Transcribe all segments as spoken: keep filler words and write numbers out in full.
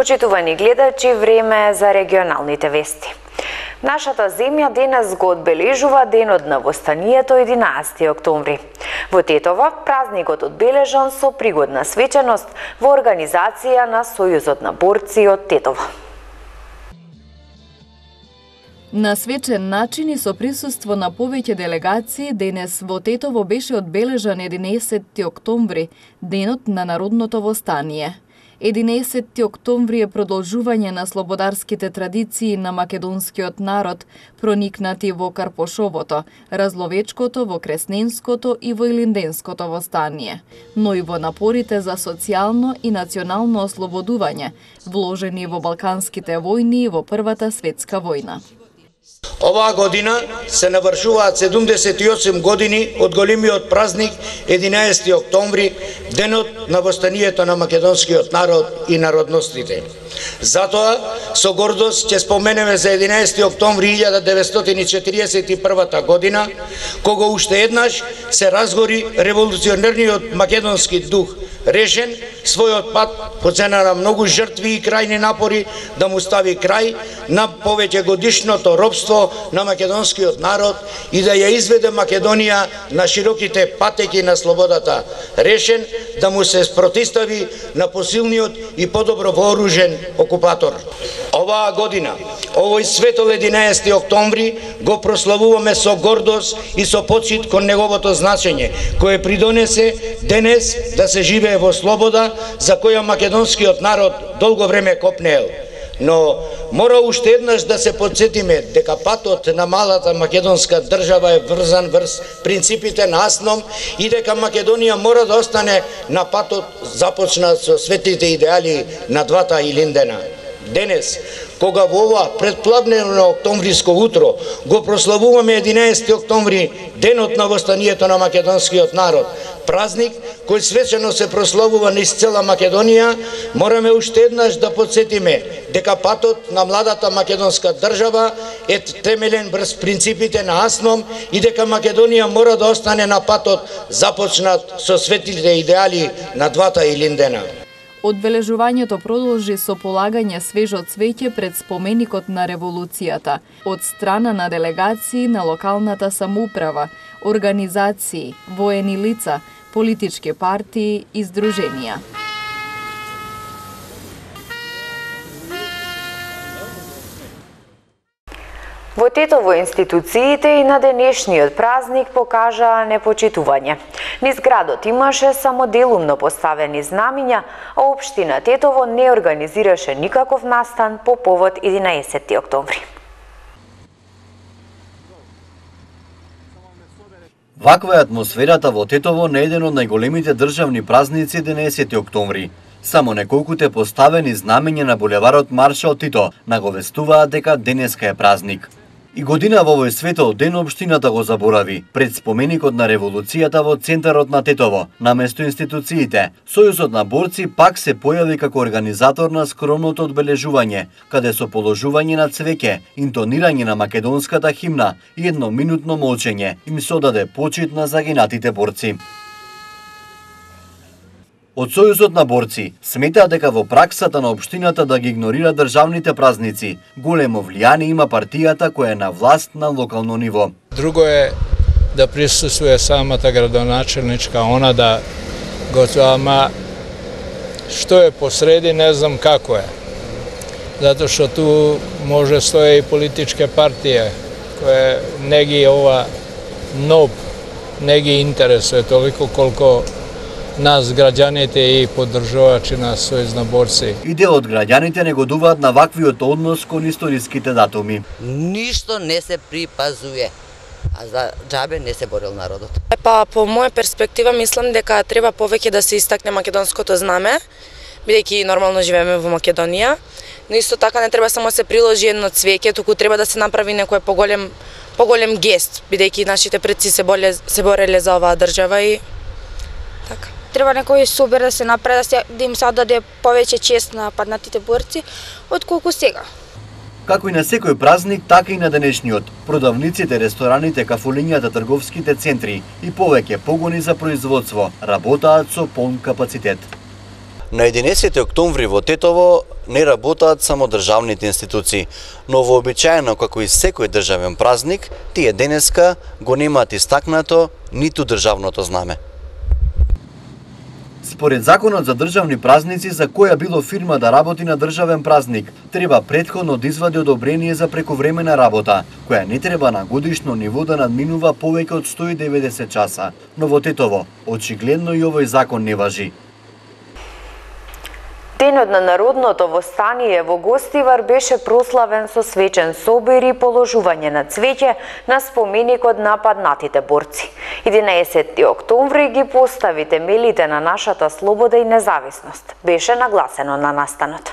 Почитувани гледачи, време е за регионалните вести. Нашата земја денес го одбележува денот на востанието единаесети октомври. Во Тетово празникот одбележан со пригодна свеченост во организација на Сојузот на борци од Тетово. На свечен начин и со присуство на повеќе делегации, денес во Тетово беше одбележан единаесети октомври, денот на народното востание. единаесети октомври е продолжување на слободарските традиции на македонскиот народ, проникнати во Карпошовото, Разловечкото, во Кресненското и во Илинденското востание, но и во напорите за социјално и национално ослободување, вложени во Балканските војни и во Првата светска војна. Оваа година се навршуваат седумдесет и осум години од големиот празник единаесети октомври, денот на востанието на македонскиот народ и народностите. Затоа, со гордост ќе споменеме за единаесети октомври илјада деветстотини и четиридесет и прва година, кога уште еднаш се разгори револуционерниот македонски дух, решен својот пат по цена на многу жртви и крајни напори да му стави крај на повеќе годишното робство на македонскиот народ и да ја изведе Македонија на широките патеки на слободата, решен да му се спротистави на посилниот и подобро вооружен окупатор. Оваа година, овој светол единаесети октомври го прославуваме со гордост и со почит кон неговото значење, кое придонесе денес да се живее во слобода за која македонскиот народ долго време копнеел. Но мора уште еднаш да се подсетиме дека патот на малата македонска држава е врзан врз принципите на Асном и дека Македонија мора да остане на патот започнат со светлите идеали на двата Илиндена. Денес, кога во ова предпладневно октомвриско утро го прославуваме единаесети октомври, денот на востанието на македонскиот народ, празник кој свечено се прославува низ цела Македонија, мораме уште еднаш да подсетиме дека патот на младата македонска држава е темелен врз принципите на Асном и дека Македонија мора да остане на патот започнат со светлите идеали на двата Илиндена. Одбележувањето продолжи со полагање свежо цвеќе пред споменикот на револуцијата од страна на делегации на локалната самоуправа, организации, воени лица, политички партии и здруженија. Во Тетово институциите и на денешниот празник покажаа непочитување. Низ градот имаше само делумно поставени знамиња, а општина Тетово не организираше никаков настан по повод единаесети октомври. Ваква е атмосферата во Тетово на еден од најголемите државни празници единаесети октомври. Само неколкуте поставени знамења на булеварот Маршал Тито наговестуваат дека денеска е празник. И година во овој светол ден општината го заборави пред споменикот на револуцијата во центарот на Тетово, наместо институциите. Сојузот на борци пак се појави како организатор на скромното одбележување, каде со положување на цвеќе, интонирање на македонската химна и едноминутно молчење им се одаде почит на загинатите борци. Од Сојузот на борци сметаат дека во праксата на општината да ги игнорира државните празници, големо влијание има партијата која е на власт на локално ниво. Друго е да присуствува самата градоначелничка, она да го ама што е посреди не знам како е. Затоа што ту може стоje и политичке партија која не ги ова ноб не ги интересува толико колку нас граѓаните и поддржувачи на Сојуз на борци. И дел од граѓаните негодуваат на ваквиот однос кон историските датуми. Ништо не се припазуе, а за џабе не се борил народот. Па по моја перспектива мислам дека треба повеќе да се истакне македонското знаме, бидејќи нормално живееме во Македонија, но исто така не треба само да се приложи едно цвеќе, туку треба да се направи некој поголем поголем гест, бидејќи нашите предци се боле се бореле за оваа држава и така. Треба некој собер да се направи, да, се, да им се даде повеќе чест на паднатите борци, отколку сега. Како и на секој празник, така и на денешниот. Продавниците, рестораните, кафулињата, трговските центри и повеќе погони за производство работаат со полн капацитет. На единесети октомври во Тетово не работаат само државните институции, но вообичаено како и секој државен празник, тие денеска го немаат истакнато ниту државното знаме. Според законот за државни празници, за која било фирма да работи на државен празник, треба претходно да извади одобрение за прековремена работа, која не треба на годишно ниво да надминува повеќе од сто и деветдесет часа. Но во Тетово, очигледно и овој закон не важи. Денот на народното востание во Гостивар беше прославен со свечен собир и положување на цвеќе на споменикот на паднатите борци. единаесети октомври ги постави темелите на нашата слобода и независност, беше нагласено на настанот.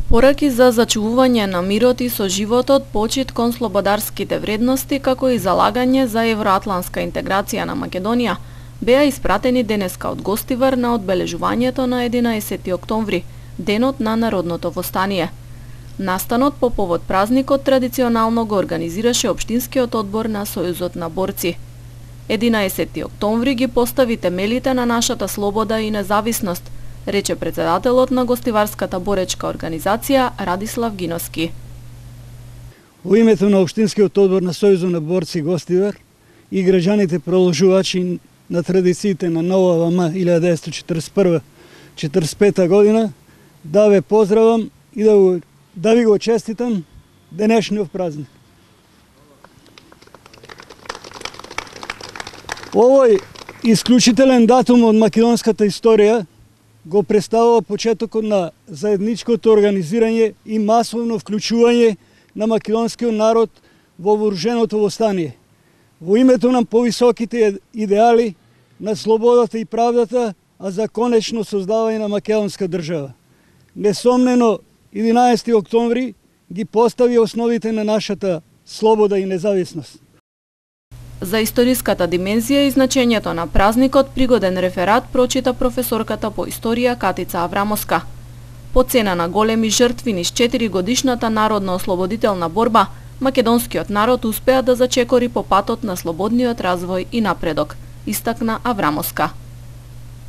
Пораки за зачувување на мирот и со животот, почит кон слободарските вредности, како и залагање за евроатлантска интеграција на Македонија, беа испратени денеска од Гостивар на одбележувањето на единаесети октомври, денот на народното востание. Настанот по повод празникот традиционално го организираше Општинскиот одбор на Сојузот на борци. единаесети октомври ги постави темелите на нашата слобода и независност, рече председателот на Гостиварската боречка организација Радислав Гиноски. Во името на Општинскиот одбор на Сојузот на борци Гостивар и граѓаните проложувачи на традициите на нова ВМ илјада деветстотини четридесет и прва - четридесет и пета година, да ве поздравам и да, го, да ви го честитам денешниот празник. Овој исклучителен датум од македонската историја го представува почетокот на заедничкото организирање и масовно вклучување на македонскиот народ во вооруженото востание, во името на повисоките идеали на слободата и правдата, а за конечно создавање на македонска држава. Несомнено, единаесети октомври ги постави основите на нашата слобода и независност. За историската димензија и значењето на празникот пригоден реферат прочита професорката по историја Катица Аврамовска. По цена на големи жртви низ четири годишната народно-ослободителна борба, македонскиот народ успеа да зачекори по патот на слободниот развој и напредок, истакна Аврамовска.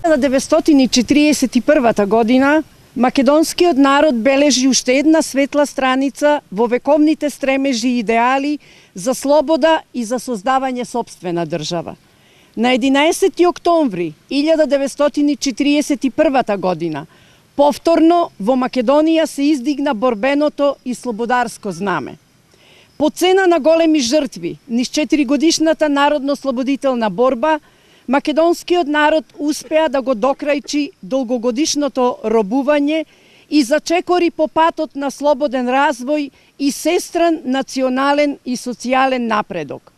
На деветстотини четириесет и првата година македонскиот народ бележи уште една светла страница во вековните стремежи и идеали за слобода и за создавање сопствена држава. На единаесети октомври илјада деветстотини четириесет и првата година повторно во Македонија се издигна борбеното и слободарско знаме. По цена на големи жртви низ четиригодишната народно-слободителна борба, македонскиот народ успеа да го докрајчи долгогодишното робување и зачекори по патот на слободен развој и сестран национален и социјален напредок.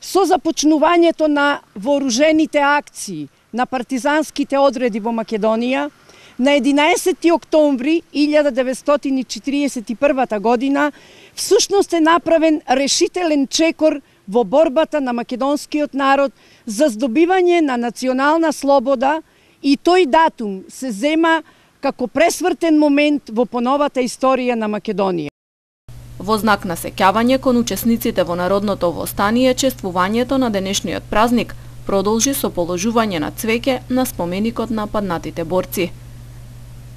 Со започнувањето на вооружените акции на партизанските одреди во Македонија, на единаесети октомври илјада деветстотини четириесет и првата година всушност е направен решителен чекор во борбата на македонскиот народ за здобивање на национална слобода и тој датум се зема како пресвртен момент во поновата историја на Македонија. Во знак на сеќавање кон учесниците во народното востание, чествувањето на денешниот празник продолжи со положување на цвеќе на споменикот на паднатите борци.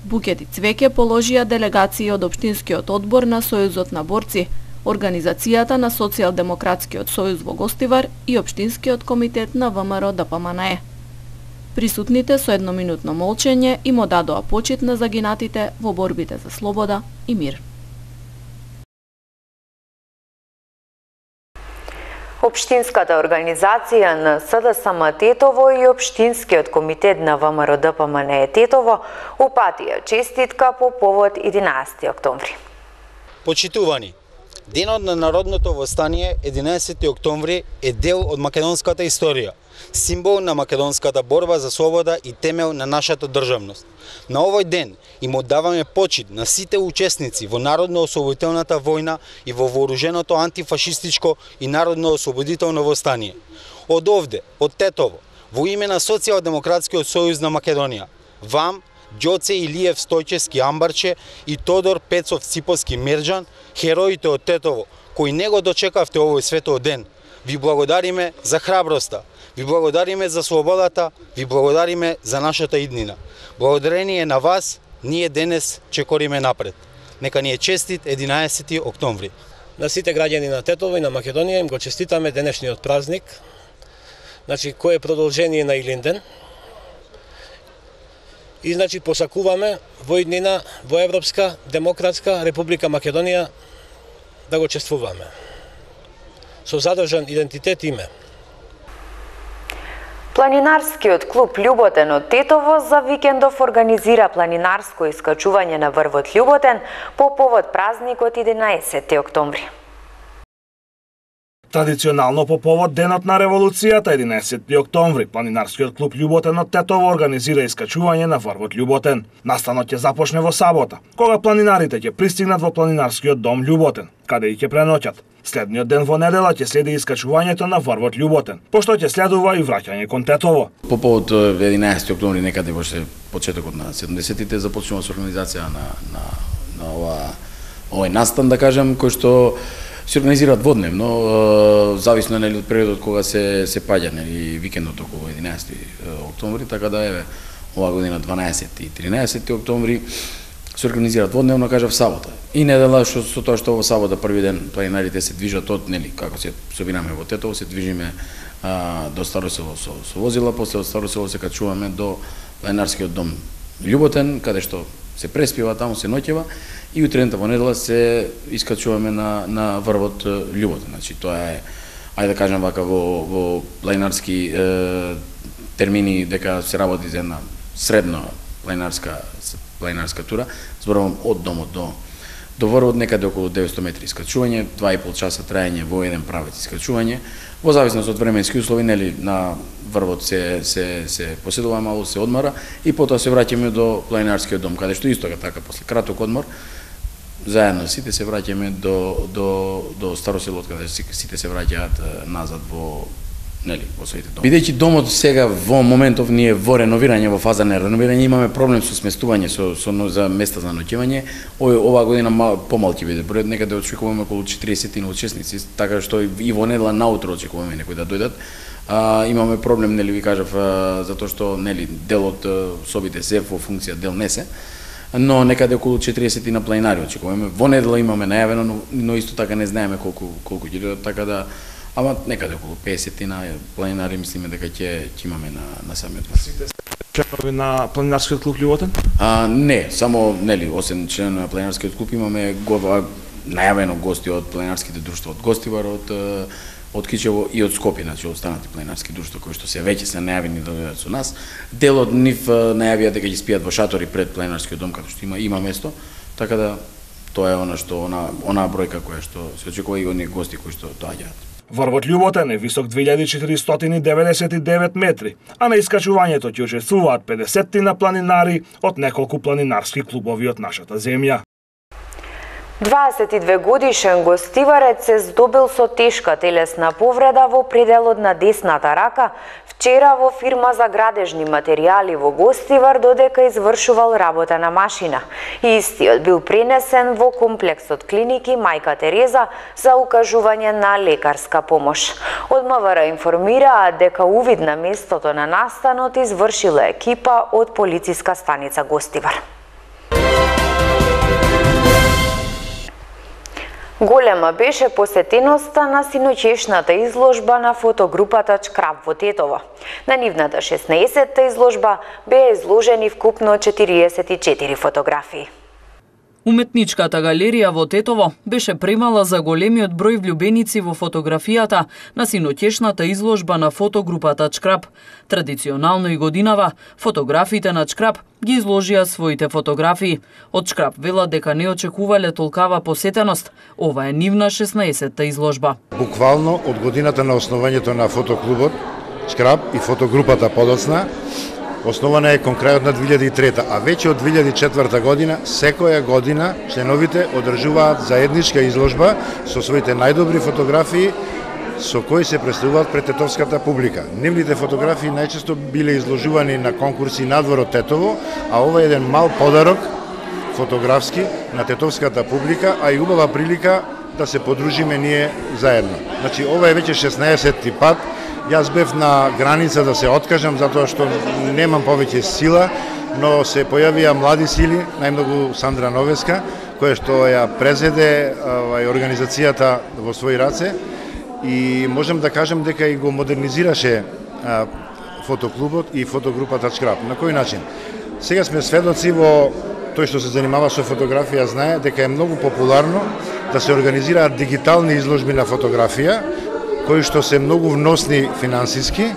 Букети цвеќе положија делегации од Општинскиот одбор на Сојузот на борци, Организацијата на Социјалдемократскиот сојуз во Гостивар и Општинскиот комитет на ВМРО Д П М Н Е. Присутните со едноминутно молчење им одадоа почит на загинатите во борбите за слобода и мир. Општинската организација на С Д С М Тетово и Општинскиот комитет на ВМРО Д П М Н Е Тетово упатија честитка по повод единаесети октомври. Почитувани, денот на народното востание единаесети октомври е дел од македонската историја, символ на македонската борба за слобода и темел на нашата државност. На овој ден им оддаваме почит на сите учесници во народно-ослободителната војна и во вооруженото антифашистичко и народно-ослободително востание. Од овде, од Тетово, во име на Социјалдемократскиот сојуз на Македонија, вам, Ѓоце Илиев Стојчевски Амбарче и Тодор Пецов Циповски Мерџан, хероите од Тетово, кои не го дочекавте овој светол ден, ви благодариме за храброста, Ви благодариме за слободата, ви благодариме за нашата иднина. Благодарение на вас, ние денес чекориме напред. Нека ни е честит единаесети октомври. На сите граѓани на Тетово и на Македонија им го честитаме денешниот празник, значи кој е продолжение на Илинден. И значи посакуваме во иднина во Европска демократска Република Македонија да го чествуваме со задржан идентитет и име. Планинарскиот клуб Љуботен од Тетово за викендов организира планинарско искачување на врвот Љуботен по повод празникот единаесети октомври. Традиционално по повод денот на револуцијата единаесети октомври, планинарскиот клуб Љуботен од Тетово организира искачување на врвот Љуботен. Настанот ќе започне во сабота, кога планинарите ќе пристигнат во планинарскиот дом Љуботен, каде и ќе преноќат. Следниот ден во недела ќе следи искачувањето на врвот Љуботен, пошто ќе следува и враќање кон Тетово. По повод единаесети октомври, некаде во почетокот на седумдесетите започнува со организација на на на ова овој настан, да кажем, кој што се организира дводневно, зависно нели од периодот кога се се паѓа нели викендот околу единаесети октомври, така да еве оваа година дванаесети и тринаесети октомври се организира дводневно, кажав сабота. И недела што со тоа што во сабота први ден планинарите се движат од нели како се собираме во Тетово, се движиме а, до Старо село со, со возила, после од Старо село се качуваме до планинарскиот дом Љуботен, каде што се преспива, таму се ноќева и утрената во недела се искачуваме на на врвот Љуботен. Значи тоа е, ајде да кажем вака во во планинарски е, термини дека се работи за една средна планинарска планинарска тура, зборувам од домот до до врвот, некаде околу деветсто метри искачување, два и пол часа траење во еден правец искачување. Во зависност од временски услови, нели на врвот се се се поседува малку, се одмора и потоа се враќаме до планинарскиот дом, каде што исто така после краток одмор заедно сите се враќаме до до до Старо село, каде сите се враќаат назад во нели во своите доми. Бидејќи домот сега во моментов ние во реновирање, во фаза на реновирање, имаме проблем со сместување со со за места за ноќевање. Оваа година мал, помал ќе биде бројот, некаде очекуваме околу четириесет учесници, така што и во недела наутро очекуваме некои да дојдат. А, имаме проблем, нели ви кажав, затоа што нели дел од собите се во функција, дел не се. Но некаде околу четириесет на планинари очекуваме. Во недела имаме најавено, но, но исто така не знаеме колку колку ќе дојдат, така да ама некаде околу песет на планинари мислиме дека ќе ќе имаме на на самиот нас. Сите членови на планинарскиот клуб Љуботен? А не, само нели осем членови на планинарскиот клуб имаме го најавено гости од планинарските друштва од Гостивар, од од Кичево и од Скопје, значи останати планинарски друштва кои што се веќе се најавени да дојдат со нас. Дел од нив најавија дека ќе спијат во шатори пред планинарскиот дом, каде што има има место, така да тоа е она што она она бројка која што се очекува и оние гости кои што доаѓаат. Врвот Љуботен е висок две илјади четиристотини деветдесет и девет метри, а на искачувањето ќе учествуваат педесет на планинари од неколку планинарски клубови од нашата земја. дваесет и две годишен гостиварец се здобил со тешка телесна повреда во пределот на десната рака вчера во фирма за градежни материјали во Гостивар додека извршувал работа на машина. И истиот бил пренесен во комплексот клиники Мајка Тереза за укажување на лекарска помош. Од МВР информираат дека увид на местото на настанот извршила екипа од полициска станица Гостивар. Голема беше посетеноста на синоќешната изложба на фотогрупата Чкрап во Тетово. На нивната шеснаесетта изложба беа изложени вкупно четириесет и четири фотографии. Уметничката галерија во Тетово беше премала за големиот број влюбеници во фотографијата на синоќешната изложба на фотогрупата Чкрап. Традиционално и годинава, фотографите на Чкрап ги изложија своите фотографии. Од Чкрап велат дека не очекувале толкава посетеност. Ова е нивна шеснаесетта изложба. Буквално од годината на основањето на фотоклубот Чкрап и фотогрупата подоцна, основана е кон крајот на две илјади и трета, а веќе од две илјади и четврта година, секоја година членовите одржуваат заедничка изложба со своите најдобри фотографии со кои се представуваат пред тетовската публика. Нивните фотографии најчесто биле изложувани на конкурси надвор од Тетово, а ова е еден мал подарок фотографски на тетовската публика, а и убава прилика да се подружиме ние заедно. Значи, ова е веќе шеснаесетти пат. Јас бев на граница да се откажам, затоа што немам повеќе сила, но се појавија млади сили, најмногу Сандра Новеска, која што ја презеде овај, организацијата во своји раце и можам да кажам дека и го модернизираше а, фотоклубот и фотогрупата Шкраб. На кој начин? Сега сме сведоци во тој што се занимава со фотографија, знае дека е многу популарно да се организираат дигитални изложби на фотографија, кои што се многу вносни финансиски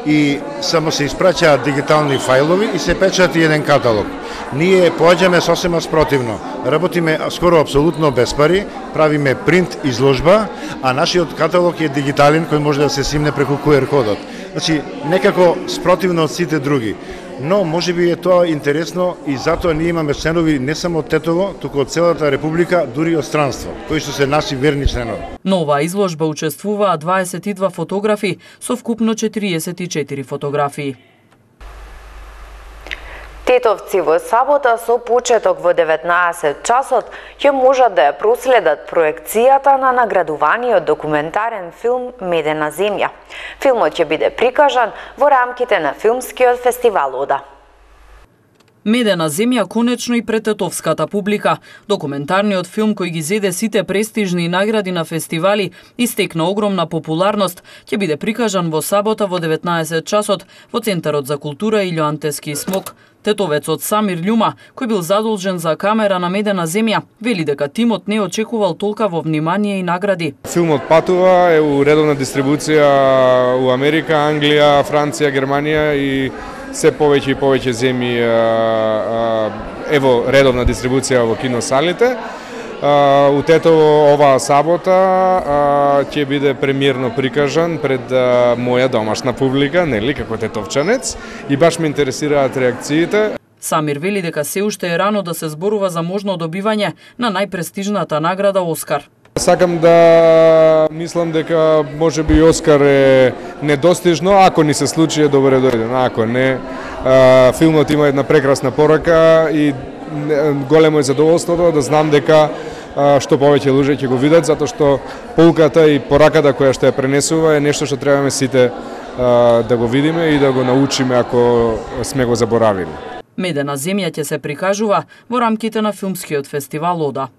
и само се испраќаат дигитални фајлови и се печати еден каталог. Ние поаѓаме сосема спротивно. Работиме скоро апсолутно без пари, правиме принт изложба, а нашиот каталог е дигитален кој може да се симне преку ку ер кодот. Значи, некако спротивно од сите други. Но може би е тоа интересно и затоа ние имаме членови не само од Тетово, туку од целата република, дури од странство, кои што се наши верни членови. На оваа изложба учествуваа дваесет и два фотографи со вкупно четириесет и четири фотографии. Тетовци во сабота со почеток во деветнаесет часот ќе можат да ја проследат проекцијата на наградуваниот документарен филм Медена земја. Филмот ќе биде прикажан во рамките на филмскиот фестивал Ода. Медена земја конечно и пред тетовската публика. Документарниот филм кој ги зеде сите престижни награди на фестивали и стекна огромна популарност, ќе биде прикажан во сабота во деветнаесет часот во Центарот за култура Илјо Антески Смок. Тетовецот Самир Љума, кој бил задолжен за камера на Медена земја, вели дека тимот не очекувал толкаво внимание и награди. Филмот патува, е у редовна дистрибуција у Америка, Англија, Франција, Германија и се повеќе и повеќе земји ево редовна дистрибуција во киносалите. У Тетово оваа сабота ќе биде премиерно прикажан пред моја домашна публика, нели, како тетовчанец, и баш ме интересираат реакциите. Самир вели дека се уште е рано да се зборува за можно добивање на најпрестижната награда Оскар. Сакам да мислам дека може би Оскар е недостижно, ако ни се случи е добре дојден, ако не, филмот има една прекрасна порака и големо е задоволството да знам дека што повеќе луѓе ќе го видат, затоа што поуката и пораката која што ја пренесува е нешто што требаме сите да го видиме и да го научиме ако сме го заборавили. Медена земја ќе се прикажува во рамките на филмскиот фестивал Ода.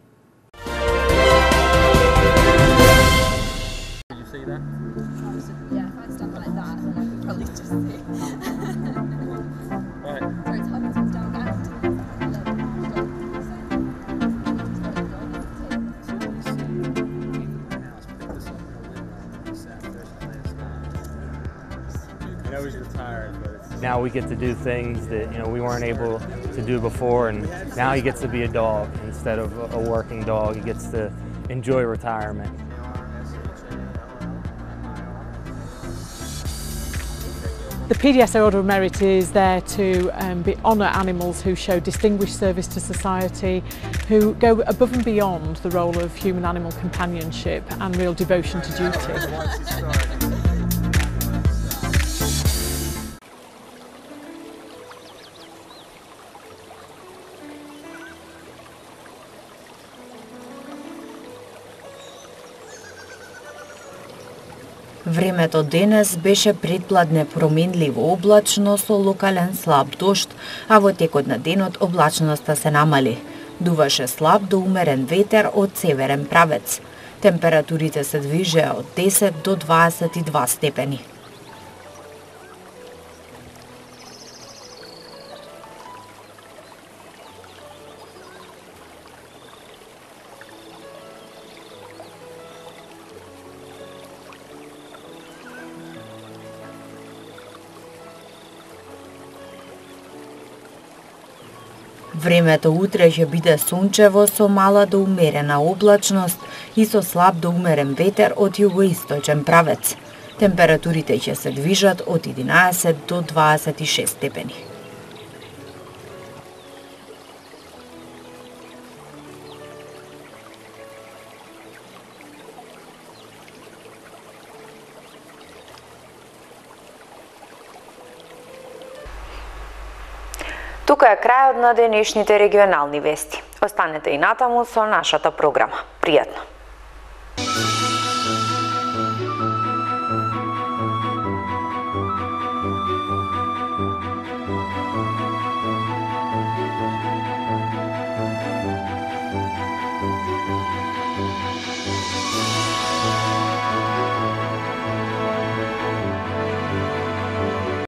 Now we get to do things that you know we weren't able to do before, and now he gets to be a dog instead of a working dog. He gets to enjoy retirement. The P D S A Order of Merit is there to um, be, honour animals who show distinguished service to society, who go above and beyond the role of human-animal companionship and real devotion to duty. Времето денес беше предпладне променливо облачно со локален слаб дожд, а во текот на денот облачноста се намали. Дуваше слаб до умерен ветер од северен правец. Температурите се движеа од десет до дваесет и два степени. Времето утре ќе биде сончево со мала до умерена облачност и со слаб до умерен ветер од југоисточен правец. Температурите ќе се движат од единаесет до дваесет и шест степени. Тука е крајот на денешните регионални вести. Останете и натаму со нашата програма. Пријатно!